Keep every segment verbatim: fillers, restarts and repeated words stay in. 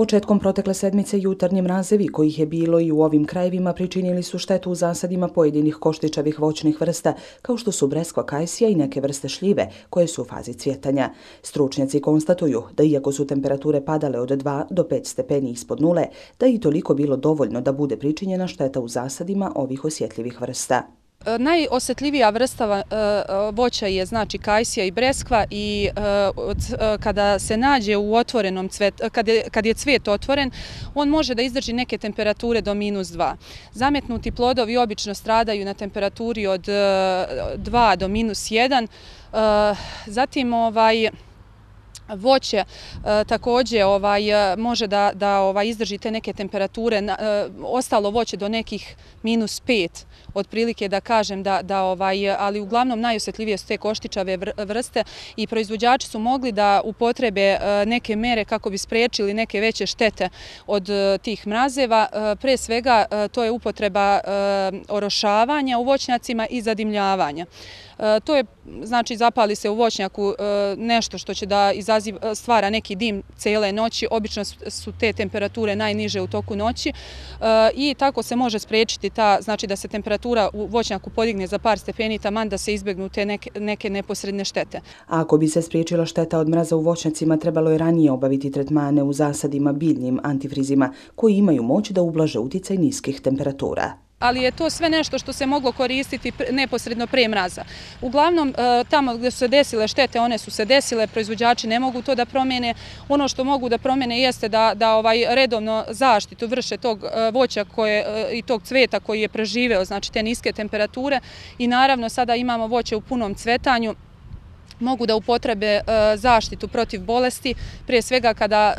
Početkom protekle sedmice jutarnji mrazevi, kojih je bilo i u ovim krajevima, pričinili su štetu u zasadima pojedinih koštičavih voćnih vrsta, kao što su breskva, kajsija i neke vrste šljive, koje su u fazi cvjetanja. Stručnjaci konstatuju da iako su temperature padale od dva do pet stepeni ispod nule, da je i toliko bilo dovoljno da bude pričinjena šteta u zasadima ovih osjetljivih vrsta. Najosjetljivija vrsta voća je znači kajsija i breskva i kada se nađe u otvorenom cvetu, kad je cvet otvoren, on može da izdrži neke temperature do minus dva. Zametnuti plodovi obično stradaju na temperaturi od dva do minus jedan. Zatim ovaj voće e, također ovaj, može da, da ovaj, izdrži te neke temperature, e, ostalo voće do nekih minus pet, otprilike da kažem, da, da, ovaj, ali uglavnom najosjetljivije su te koštičave vrste i proizvođači su mogli da upotrebe e, neke mere kako bi spriječili neke veće štete od e, tih mrazeva. E, pre svega e, to je upotreba e, orošavanja u voćnjacima i zadimljavanja. E, to je, znači, zapali se u voćnjaku e, nešto što će da izaziva, stvara neki dim cijele noći. Obično su te temperature najniže u toku noći e, i tako se može spriječiti ta, znači da se temperatura u voćnjaku podigne za par stepeni, taman da se izbjegnu te neke, neke neposredne štete. A ako bi se spriječila šteta od mraza u voćnjacima, trebalo je ranije obaviti tretmane u zasadima biljnim antifrizima, koji imaju moć da ublaže uticaj niskih temperatura. Ali je to sve nešto što se moglo koristiti neposredno pre mraza. Uglavnom, tamo gdje su se desile štete, one su se desile, proizvođači ne mogu to da promijene. Ono što mogu da promijene jeste da, da ovaj redovno zaštitu vrše tog voća koje, i tog cveta koji je preživeo, znači te niske temperature. I naravno, sada imamo voće u punom cvetanju, mogu da upotrebe zaštitu protiv bolesti, prije svega kada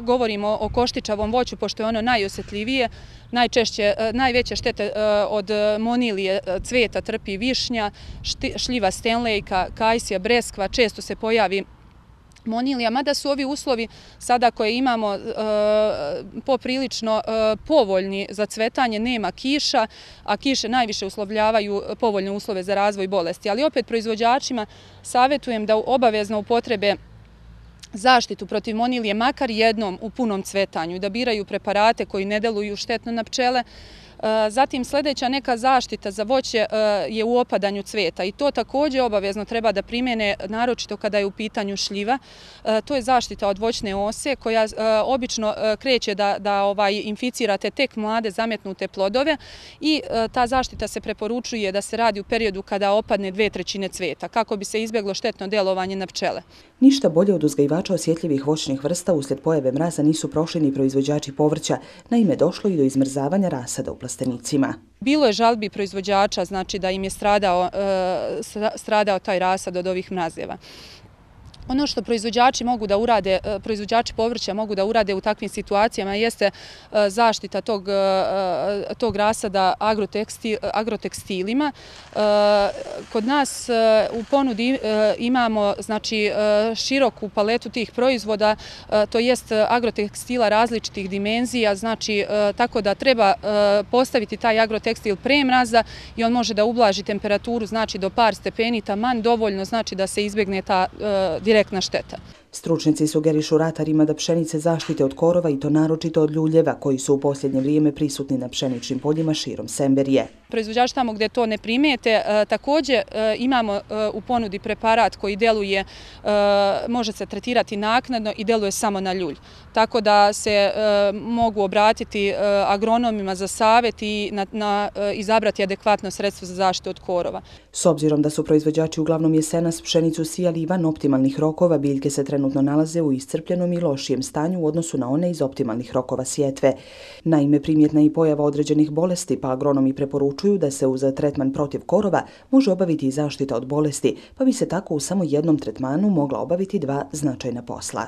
govorimo o koštičavom voću, pošto je ono najosjetljivije. Najčešće, najveće štete od monilije cveta trpi višnja, šljiva stenlejka, kajsija, breskva, često se pojavi monilija, mada su ovi uslovi sada koje imamo e, poprilično e, povoljni za cvetanje, nema kiša, a kiše najviše uslovljavaju povoljne uslove za razvoj bolesti. Ali opet proizvođačima savjetujem da obavezno upotrebe zaštitu protiv monilije makar jednom u punom cvetanju i da biraju preparate koji ne deluju štetno na pčele. Zatim sljedeća neka zaštita za voće je u opadanju cveta i to također obavezno treba da primjene, naročito kada je u pitanju šljiva. To je zaštita od voćne ose koja obično kreće da, da ovaj, inficirate tek mlade zametnute plodove i ta zaštita se preporučuje da se radi u periodu kada opadne dve trećine cveta kako bi se izbjeglo štetno delovanje na pčele. Ništa bolje od uzgajivača osjetljivih voćnih vrsta uslijed pojave mraza nisu prošli ni proizvođači povrća, naime došlo i do izmrzavanja rasada u plastenicima. Bilo je žalbi proizvođača, znači da im je stradao, stradao taj rasad od ovih mrazeva. Ono što proizvođači mogu da urade, proizvođači povrća mogu da urade u takvim situacijama jeste zaštita tog, tog rasada agrotekstil, agrotekstilima. Kod nas u ponudi imamo znači, široku paletu tih proizvoda, to jest agrotekstila različitih dimenzija, znači tako da treba postaviti taj agrotekstil pre mraza i on može da ublaži temperaturu znači do par stepeni, taman dovoljno znači da se izbjegne ta direktna direktna šteta. Stručnjaci sugerišu ratarima da pšenice zaštite od korova i to naročito od ljuljeva koji su u posljednje vrijeme prisutni na pšeničnim poljima širom Semberije. Proizvođači tamo gdje to ne primijete, također imamo u ponudi preparat koji deluje, može se tretirati naknadno i deluje samo na ljulj. Tako da se mogu obratiti agronomima za savjet i na, na, izabrati adekvatno sredstvo za zaštitu od korova. S obzirom da su proizvođači uglavnom jesenas pšenicu sijali van optimalnih rokova, biljke se trenutno nalaze u iscrpljenom i lošijem stanju u odnosu na one iz optimalnih rokova sjetve. Naime, primjetna i pojava određenih bolesti, pa agronomi preporučuju da se uz tretman protiv korova može obaviti i zaštita od bolesti, pa bi se tako u samo jednom tretmanu mogla obaviti dva značajna posla.